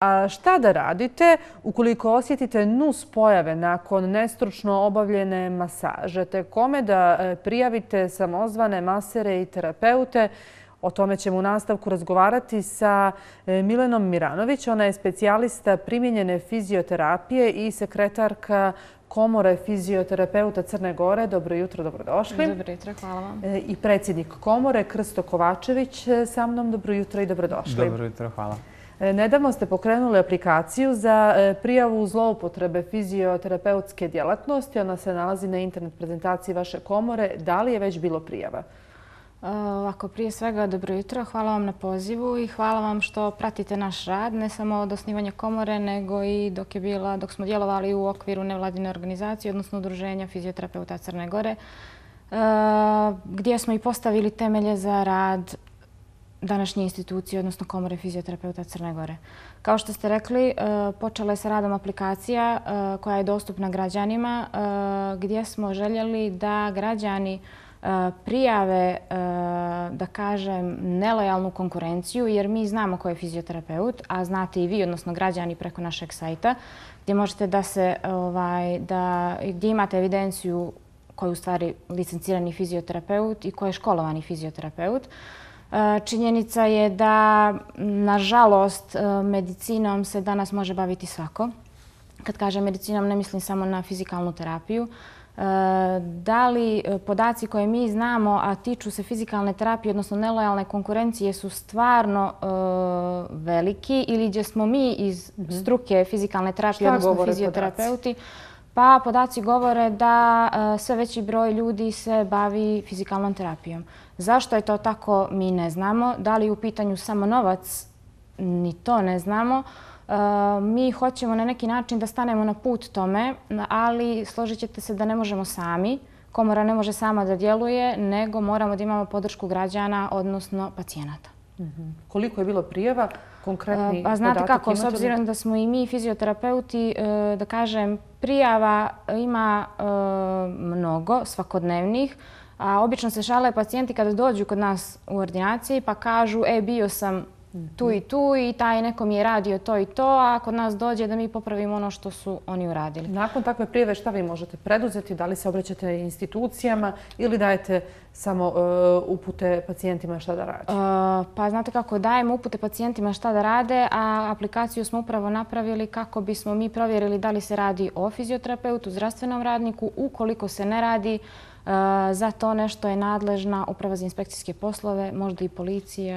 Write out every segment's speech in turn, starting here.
A šta da radite ukoliko osjetite nus pojave nakon nestručno obavljene masaže, te kome da prijavite samozvane masere i terapeute? O tome ćemo u nastavku razgovarati sa Milenom Miranović. Ona je specijalista primijenjene fizioterapije i sekretarka Komore fizioterapeuta Crne Gore. Dobro jutro, dobrodošli. Dobro jutro, hvala vam. I predsjednik Komore Krsto Kovačević sa mnom. Dobro jutro i dobrodošli. Dobro jutro, hvala. Nedavno ste pokrenuli aplikaciju za prijavu zloupotrebe fizioterapeutske djelatnosti. Ona se nalazi na internet prezentaciji vaše komore. Da li je već bilo prijava? Ovako, prije svega dobro jutro. Hvala vam na pozivu i hvala vam što pratite naš rad, ne samo od osnivanja komore, nego i dok smo djelovali u okviru nevladine organizacije, odnosno Udruženja fizioterapeuta Crne Gore, gdje smo i postavili temelje za rad današnje institucije, odnosno Komore fizioterapeuta Crne Gore. Kao što ste rekli, počela je sa radom aplikacija koja je dostupna građanima, gdje smo željeli da građani prijave, da kažem, nelojalnu konkurenciju, jer mi znamo ko je fizioterapeut, a znate i vi, odnosno građani, preko našeg sajta, gdje možete gdje imate evidenciju ko je u stvari licencirani fizioterapeut i ko je školovani fizioterapeut. Činjenica je da, nažalost, medicinom se danas može baviti svako. Kad kažem medicinom, ne mislim samo na fizikalnu terapiju. Da li podaci koje mi znamo, a tiču se fizikalne terapije, odnosno nelojalne konkurencije, su stvarno veliki ili gdje smo mi iz struke fizikalne terapije, odnosno fizioterapeuti? Pa podaci govore da sve veći broj ljudi se bavi fizikalnom terapijom. Zašto je to tako, mi ne znamo. Da li je u pitanju samo novac, ni to ne znamo. Mi hoćemo na neki način da stanemo na put tome, ali složit ćete se da ne možemo sami. Komora ne može sama da djeluje, nego moramo da imamo podršku građana, odnosno pacijenata. Koliko je bilo prijava? Konkretni Pa znate podatak kako, s obzirom da smo i mi fizioterapeuti, da kažem, prijava ima mnogo, svakodnevnih, a obično se šale pacijenti kada dođu kod nas u ordinaciji pa kažu bio sam tu i tu i taj neko mi je radio to i to, a kod nas dođe da mi popravimo ono što su oni uradili. Nakon takve prijave šta vi možete preduzeti? Da li se obraćate institucijama ili dajete samo upute pacijentima šta da rade? Pa znate kako, dajemo upute pacijentima šta da rade, a aplikaciju smo upravo napravili kako bismo mi provjerili da li se radi o fizioterapeutu, zdravstvenom radniku. Ukoliko se ne radi, za to nešto je nadležna Uprava za inspekcijske poslove, možda i policija.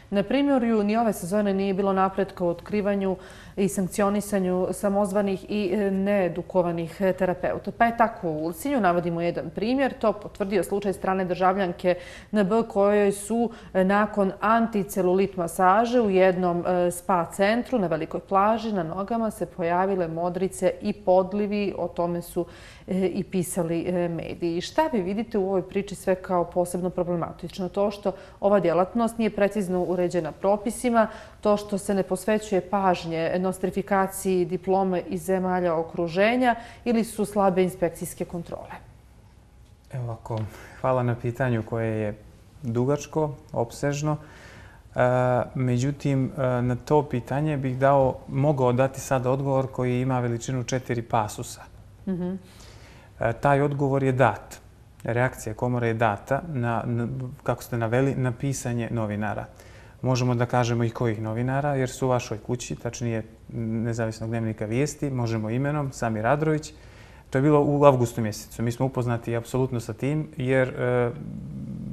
Na primjeru, ni ove sezone nije bilo napretka u otkrivanju i sankcionisanju samozvanih i needukovanih terapeuta. Pa je tako u Ulcinju, navodimo jedan primjer, to potvrdio slučaj strane državljanke NB kojoj su nakon anticelulit masaže u jednom spa centru na velikoj plaži na nogama se pojavile modrice i podlivi, o tome su i pisali mediji. Šta vi vidite u ovoj priči sve kao posebno problematično? To što ova djelatnost nije precizno uređena propisima, to što se ne posvećuje pažnje nostrifikaciji diplome iz zemalja okruženja ili su slabe inspekcijske kontrole? Evo ovako, hvala na pitanju koje je dugačko, opsežno. Međutim, na to pitanje bih mogao dati sad odgovor koji ima veličinu 4 pasusa. Taj odgovor je dat. Reakcija komore je data, kako ste naveli, na pisanje novinara. Možemo da kažemo i kojih novinara, jer su u vašoj kući, tačnije Nezavisnog dnevnika vijesti, možemo imenom, Samir Adrović. To je bilo u avgustu mjesecu. Mi smo upoznati apsolutno sa tim, jer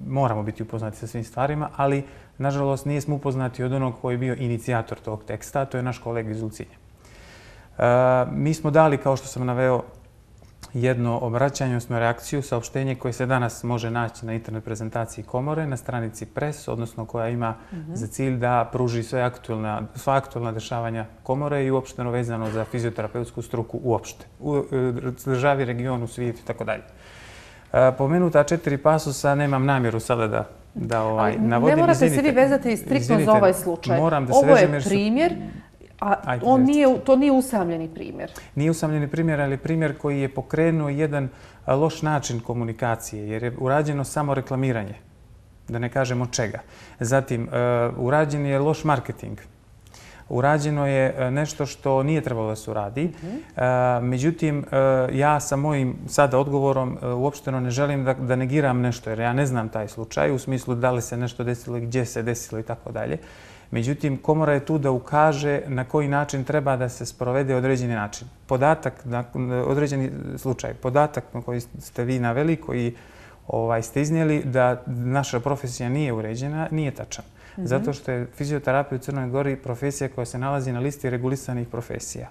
moramo biti upoznati sa svim stvarima, ali nažalost nismo upoznati od onog koji je bio inicijator tog teksta, to je naš kolega iz Ulcinja. Mi smo dali, kao što sam naveo, jedno obraćanje, odnosno reakciju, saopštenje koje se danas može naći na internet prezentaciji komore na stranici PRES, odnosno koja ima za cilj da pruži sva aktualna dešavanja komore i uopšteno vezano za fizioterapeutsku struku uopšte. U državi, regionu, svijetu i tako dalje. Pomenuta 4 pasusa nemam namjeru sada da navodim. Ne morate se vi vezati striktno za ovaj slučaj. Ovo je primjer. A to nije usamljeni primjer? Nije usamljeni primjer, ali primjer koji je pokrenuo jedan loš način komunikacije, jer je urađeno samo reklamiranje, da ne kažemo čega. Zatim, urađen je loš marketing. urađeno je nešto što nije trebalo da se uradi. Međutim, ja sa mojim sada odgovorom uopšteno ne želim da negiram nešto, jer ja ne znam taj slučaj u smislu da li se nešto desilo, gdje se desilo i tako dalje. Međutim, komora je tu da ukaže na koji način treba da se sprovede određeni način. Određeni slučaj, podatak na koji ste vi naveli, koji ste iznijeli da naša profesija nije uređena, nije tačan. Zato što je fizioterapija u Crnoj Gori profesija koja se nalazi na listi regulisanih profesija.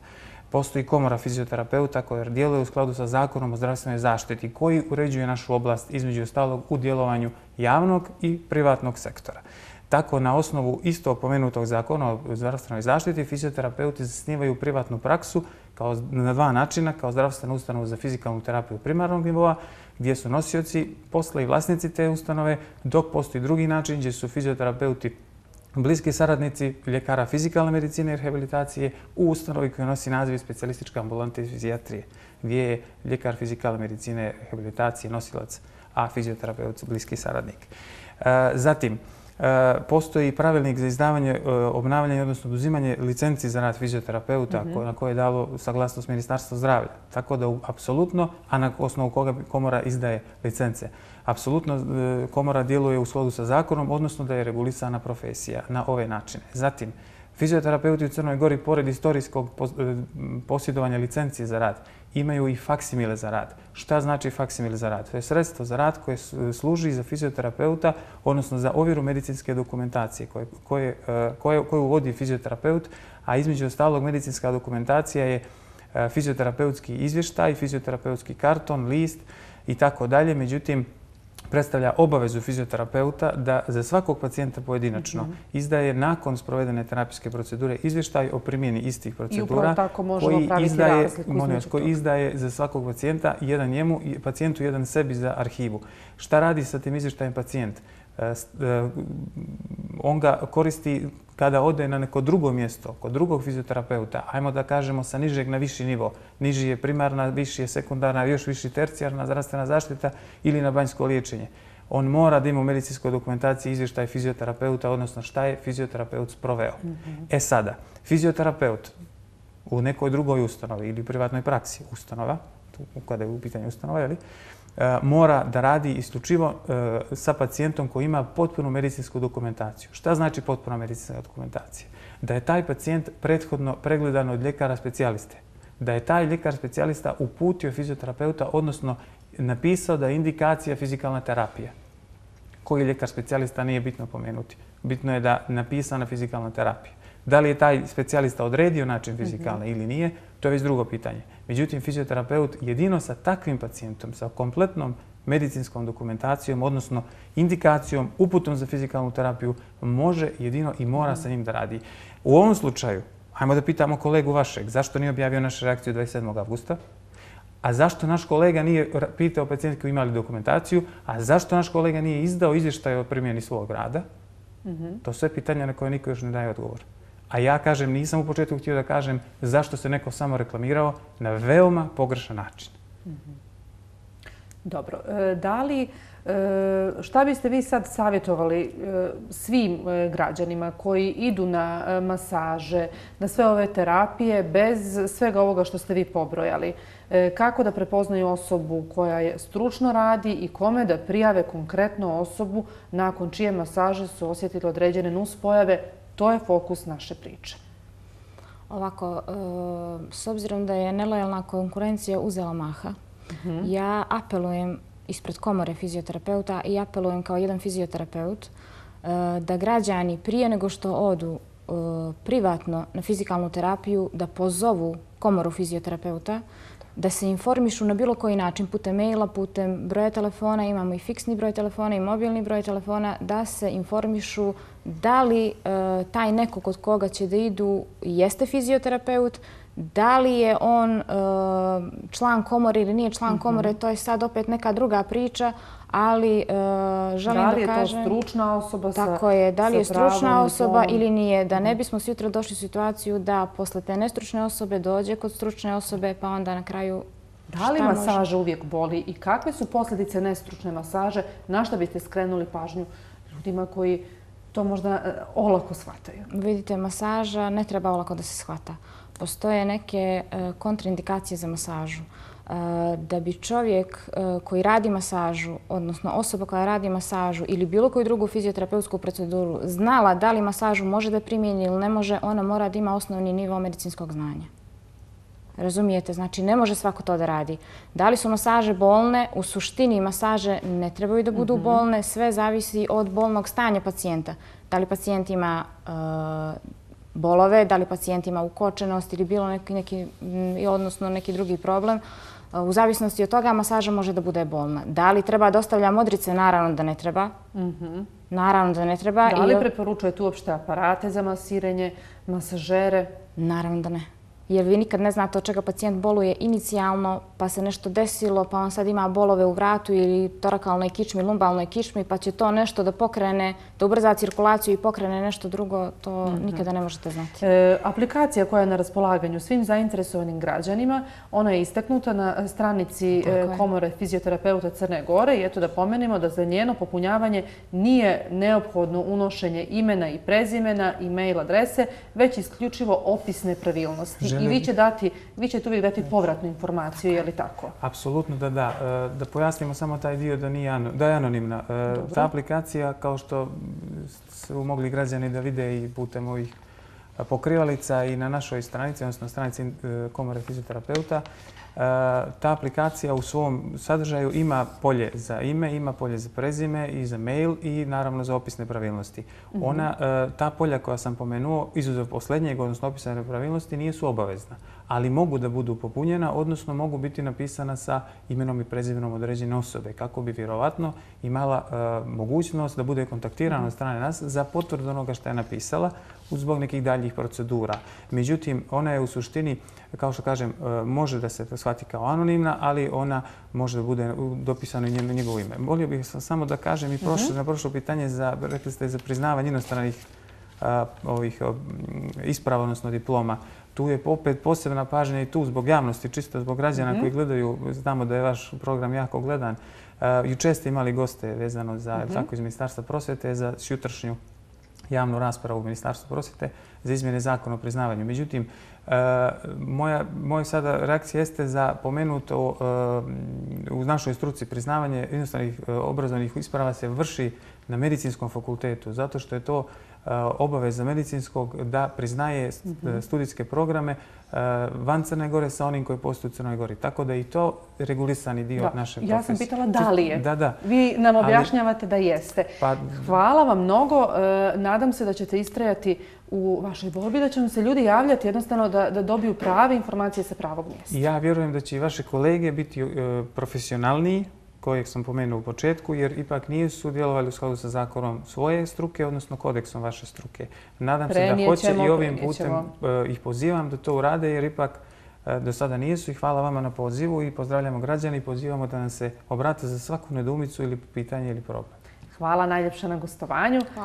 Postoji komora fizioterapeuta koja djeluje u skladu sa Zakonom o zdravstvenoj zaštiti koji uređuje našu oblast između ostalog u djelovanju javnog i privatnog sektora. Tako, na osnovu isto pomenutog Zakona o zdravstvenoj zaštiti, fizioterapeuti zasnivaju privatnu praksu na dva načina, kao zdravstvenu ustanovu za fizikalnu terapiju primarnog nivoa, gdje su nosioci posla i vlasnici te ustanove, dok postoji drugi način gdje su fizioterapeuti bliski saradnici ljekara fizikalne medicine i rehabilitacije u ustanovi koja nosi naziv specijalistička ambulanta iz fizijatrije, gdje je ljekar fizikalne medicine i rehabilitacije nosilac, a fizioterapeut bliski saradnik. Zatim, postoji pravilnik za izdavanje, obnavljanje, odnosno oduzimanje licenci za rad fizioterapeuta na koje je dalo saglasnost Ministarstva zdravlja. Tako da, apsolutno, a na osnovu koga komora izdaje licence, apsolutno komora djeluje u skladu sa zakonom, odnosno da je regulisana profesija na ove načine. Zatim, fizioterapeuti u Crnoj Gori, pored istorijskog posjedovanja licencije za rad, imaju i faksimile za rad. Šta znači faksimile za rad? To je sredstvo za rad koje služi za fizioterapeuta, odnosno za ovjeru medicinske dokumentacije koju vodi fizioterapeut, a između ostalog medicinska dokumentacija je fizioterapeutski izvještaj, fizioterapeutski karton, list i tako dalje. Međutim, predstavlja obavezu fizioterapeuta da za svakog pacijenta pojedinačno izdaje nakon sprovedene terapijske procedure izvještaj o primjeni istih procedura koji izdaje za svakog pacijenta, jedan njemu i pacijentu, jedan sebi za arhivu. Šta radi sa tim izvještajem pacijent? On ga koristi kada ode na neko drugo mjesto, kod drugog fizioterapeuta, ajmo da kažemo sa nižeg na viši nivo. Niži je primarna, viši je sekundarna, još viši tercijarna zdravstvena zaštita ili na banjsko liječenje. On mora da ima u medicinskoj dokumentaciji izvještaj fizioterapeuta, odnosno šta je fizioterapeut sproveo. Sada, fizioterapeut u nekoj drugoj ustanovi ili privatnoj praksi ustanova, kada je u pitanju ustanova, mora da radi isključivo sa pacijentom koji ima potpunu medicinsku dokumentaciju. Šta znači potpuna medicinska dokumentacija? Da je taj pacijent prethodno pregledan od ljekara specijaliste. Da je taj ljekar specijalista uputio fizioterapeuta, odnosno napisao da je indikacija fizikalna terapija. Koji ljekar specijalista nije bitno pomenuti. Bitno je da je napisana fizikalna terapija. Da li je taj specijalista odredio način fizikalne ili nije, to je već drugo pitanje. Međutim, fizioterapeut jedino sa takvim pacijentom, sa kompletnom medicinskom dokumentacijom, odnosno indikacijom, uputom za fizikalnu terapiju, može jedino i mora sa njim da radi. U ovom slučaju, hajmo da pitamo kolegu vašeg, zašto nije objavio našu reakciju 27. avgusta? A zašto naš kolega nije pitao pacijent koji imali dokumentaciju? A zašto naš kolega nije izdao izvještaj o primjeni svog rada? To su sve pitanja na koje niko još ne daje odgovor. A ja kažem, nisam u početku htio da kažem zašto se neko samo reklamirao na veoma pogrešan način. Dobro. Šta biste vi sad savjetovali svim građanima koji idu na masaže, na sve ove terapije, bez svega ovoga što ste vi pobrojali? Kako da prepoznaju osobu koja je stručno radi i kome da prijave konkretno osobu nakon čije masaže su osjetili određene nuspojave? To je fokus naše priče. Ovako, s obzirom da je nelojalna konkurencija uzela maha, ja apelujem ispred komore fizioterapeuta i apelujem kao jedan fizioterapeut da građani prije nego što odu privatno na fizikalnu terapiju da pozovu komoru fizioterapeuta, da se informišu na bilo koji način, putem maila, putem broja telefona, imamo i fiksni broj telefona i mobilni broj telefona, da se informišu da li taj neko kod koga će da idu jeste fizioterapeut, da li je on član komore ili nije član komore, to je sad opet neka druga priča, ali želim da kažem... Da li je to stručna osoba sa pravom? Tako je, da li je stručna osoba ili nije, da ne bismo sutra došli u situaciju da posle te nestručne osobe dođe kod stručne osobe, pa onda na kraju... Da li masaža uvijek boli i kakve su posljedice nestručne masaže? Na šta biste skrenuli pažnju ljudima koji to možda olako shvataju? Vidite, masaža ne treba olako da se shvata. Postoje neke kontraindikacije za masažu. Da bi čovjek koji radi masažu, odnosno osoba koja radi masažu ili bilo koju drugu fizioterapeutsku proceduru znala da li masažu može da primijeni ili ne može, ona mora da ima osnovni nivo medicinskog znanja. Razumijete? Znači, ne može svako to da radi. Da li su masaže bolne? U suštini masaže ne trebaju da budu bolne. Sve zavisi od bolnog stanja pacijenta. Da li pacijent ima bolove, da li pacijent ima ukočenost ili bilo odnosno neki drugi problem. U zavisnosti od toga masaža može da bude bolna. Da li treba da ostavlja modrice? Naravno da ne treba. Naravno da ne treba. Da li preporučujete uopšte aparate za masiranje, masažere? Naravno da ne. Jer vi nikad ne znate od čega pacijent boluje inicijalno, pa se nešto desilo, pa on sad ima bolove u vratu ili torakalnoj kičmi, lumbalnoj kičmi, pa će to nešto da pokrene, da ubrza cirkulaciju i pokrene nešto drugo, to nikada ne možete znati. Aplikacija koja je na raspolaganju svim zainteresovanim građanima, ona je istaknuta na stranici Komore fizioterapeuta Crne Gore i eto da pomenemo da za njeno popunjavanje nije neophodno unošenje imena i prezimena i mail adrese, već isključivo opis nepravilnosti. I vi ćete uvijek dati povratnu informaciju, je li tako? Apsolutno da da. Da pojasnimo samo taj dio da je anonimna. Ta aplikacija, kao što su mogli građani da vide i putem ovih pokrivalica i na našoj stranici, odnosno stranici Komore fizioterapeuta, ta aplikacija u svom sadržaju ima polje za ime, ima polje za prezime i za mail i naravno za opis nepravilnosti. Ta polja koja sam pomenuo, izuzev posljednjeg, odnosno opisa nepravilnosti, nisu obavezna, ali mogu da budu popunjena, odnosno mogu biti napisana sa imenom i prezimenom određene osobe, kako bi vjerovatno imala mogućnost da bude kontaktirana od strane nas za potvrdu onoga što je napisala zbog nekih daljih procedura. Međutim, ona je u suštini, kao što kažem, može da se shvati kao anonimna, ali ona može da bude dopisano i njegovo ime. Volio bih samo da kažem i na prošlo pitanje, rekli ste za priznavanje inostranih isprava, odnosno diploma. Tu je opet posebna pažnja i tu zbog javnosti, čisto zbog građana koji gledaju. Znamo da je vaš program jako gledan. Juče ste imali goste vezano za iz Ministarstva prosvjete za jutrašnju javnu raspravu u Ministarstvu prosvjete za izmjene zakona o priznavanju. Međutim, moja sada reakcija jeste za pomenuto u našoj struci priznavanje inostranih obrazovnih isprava se vrši na medicinskom fakultetu, zato što je to obaveza medicinskog da priznaje studijske programe van Crne Gore sa onim koji postoje u Crnoj Gori. Tako da i to regulisani dio naše profesije. Ja sam pitala da li je. Da. Vi nam objašnjavate da jeste. Hvala vam mnogo. Nadam se da ćete istrajati u vašoj borbi, da će vam se ljudi javljati jednostavno da dobiju prave informacije sa pravog mjesta. Ja vjerujem da će i vaše kolege biti profesionalniji, kojeg sam pomenuo u početku, jer ipak nisu sudjelovali u skladu sa zakonom svoje struke, odnosno kodeksom vaše struke. Nadam se da hoće i ovim putem ih pozivam da to urade, jer ipak do sada nisu i hvala vama na pozivu i pozdravljamo građane i pozivamo da nam se obrate za svaku nedoumicu ili pitanje ili problem. Hvala najljepša na gostovanju.